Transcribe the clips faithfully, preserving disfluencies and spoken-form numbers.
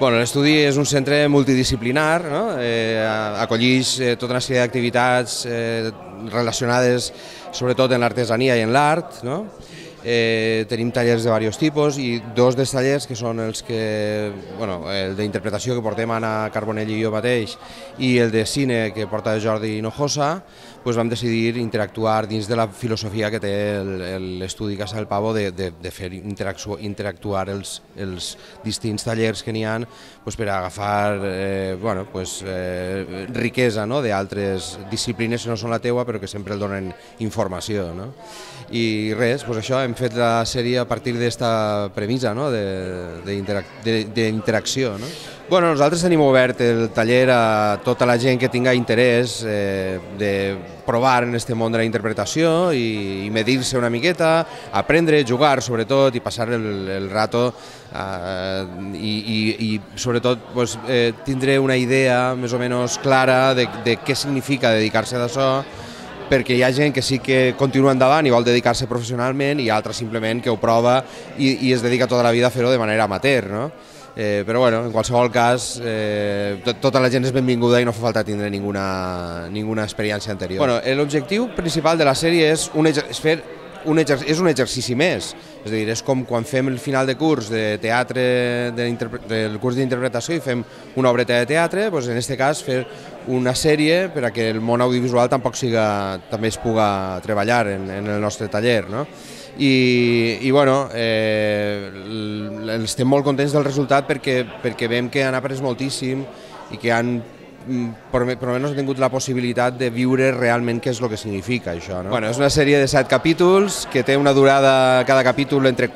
Bueno, l'estudi és un centre multidisciplinar, no? eh, acollix eh, tota una sèrie d'activitats eh, relacionades sobretot en l'artesania i en l'art, no? Eh, tenim tallers de diversos tipus i dos dels tallers que són els que, bueno, el d'interpretació que portem Anna Carbonell i jo mateix i el de cine que porta Jordi Hinojosa, doncs vam decidir interactuar dins de la filosofia que té l'estudi Casa del Pavo de, de, de fer interactuar els, els distints tallers que n'hi ha doncs per agafar eh, bueno, doncs, eh, riquesa, no? d'altres disciplines que no són la teua però que sempre el donen informació. No? I res, doncs això, hem fet la sèrie a partir d'esta premissa, no? d'interacció. No? Bueno, nosaltres tenim obert el taller a tota la gent que tinga interès eh, de provar en este món de la interpretació i, i medir-se una miqueta, aprendre, jugar sobretot i passar el, el rato eh, i, i, i sobretot pues, eh, tindre una idea més o menys clara de, de què significa dedicar-se d'això, perquè hi ha gent que sí que continua endavant i vol dedicar-se professionalment i altra simplement que ho prova i, i es dedica tota la vida a fer-ho de manera amateur, no? Eh, però bueno, en qualsevol cas eh, tot, tota la gent és benvinguda i no fa falta tindre ninguna, ninguna experiència anterior. Bueno, l'objectiu principal de la sèrie és, un, és fer un, és un exercici més, és a dir, és com quan fem el final de curs de teatre, de del curs d'interpretació i fem una obreta de teatre, doncs en aquest cas fer una sèrie per a que el món audiovisual tampoc siga, també es puga treballar en, en el nostre taller, no? I, i bueno, eh, estem molt contents del resultat perquè, perquè veiem que han après moltíssim i que han per almenys han tingut la possibilitat de viure realment què és el que significa això. No? Bueno, és una sèrie de set capítols que té una durada cada capítol entre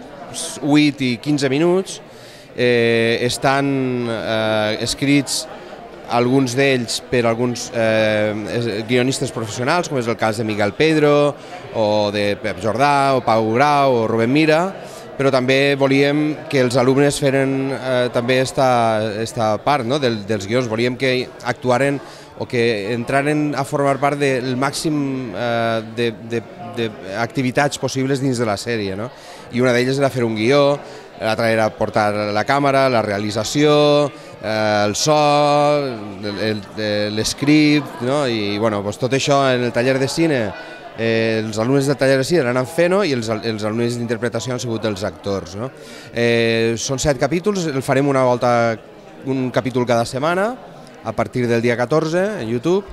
vuit i quinze minuts, eh, estan eh, escrits alguns d'ells per alguns eh, guionistes professionals, com és el cas de Miguel Pedro, o de Pep Jordà, o Pau Grau, o Rubén Mira, però també volíem que els alumnes feren eh, també esta, esta part, no? Del, dels guions, volíem que actuaren o que entraren a formar part del màxim eh, d'activitats possibles dins de la sèrie, no? I una d'elles era fer un guió, l'altra era portar la càmera, la realització, eh, el so, l'escript, no? I bueno, doncs tot això en el taller de cine, eh, els alumnes del taller de cine l'han fent i els, els alumnes d'interpretació han sigut els actors. No? Eh, són set capítols, el farem una volta, un capítol cada setmana, a partir del dia catorze en YouTube,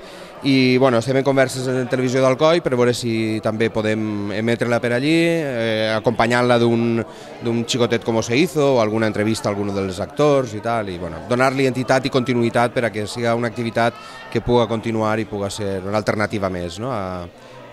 i bueno, estem en converses en Televisió d'Alcoi per veure si també podem emetre-la per allí, eh, acompanyant-la d'un xicotet com se hizo o alguna entrevista a algun dels actors i tal, i bueno, donar-li entitat i continuïtat per a que sigui una activitat que puga continuar i puga ser una alternativa més, no? a,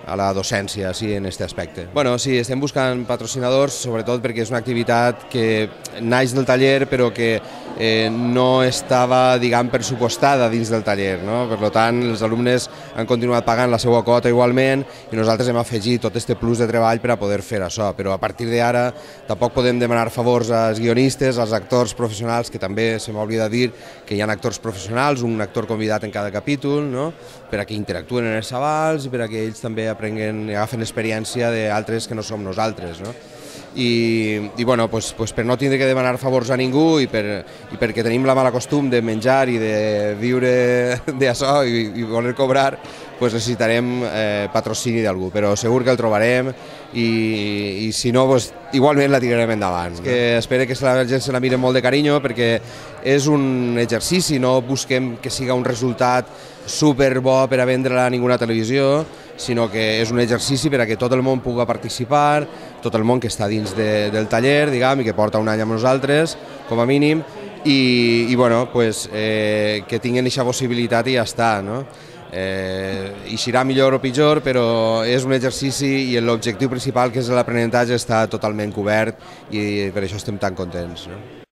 a la docència, sí, en aquest aspecte. Bueno, sí, estem buscant patrocinadors, sobretot perquè és una activitat que naix del taller però que eh, no estava, diguem, pressupostada dins del taller, no? Per tant, els alumnes han continuat pagant la seva quota igualment i nosaltres hem afegit tot aquest plus de treball per a poder fer això, però a partir d'ara tampoc podem demanar favors als guionistes, als actors professionals, que també se m'oblida dir que hi ha actors professionals, un actor convidat en cada capítol, no? Per a que interactuen en els avals i per a que ells també aprenguen i agafen experiència d'altres que no som nosaltres. No? I, i bueno, pues, pues per no tindre que demanar favors a ningú i, per, i perquè tenim la mala costum de menjar i de viure d'això i, i voler cobrar, pues necessitarem eh, patrocini d'algú, però segur que el trobarem i, i si no, pues, igualment la tirarem endavant. No? Que espero que la gent se la mire molt de carinyo perquè és un exercici, no busquem que siga un resultat superbo per a vendre-la a ninguna televisió, sinó que és un exercici per a que tot el món pugui participar, tot el món que està dins de, del taller, diguem, i que porta un any amb nosaltres, com a mínim, i, i bueno, pues, eh, que tinguin aquesta possibilitat i ja està, no? Eh, eixirà millor o pitjor, però és un exercici i l'objectiu principal, que és l'aprenentatge, està totalment cobert i per això estem tan contents. No?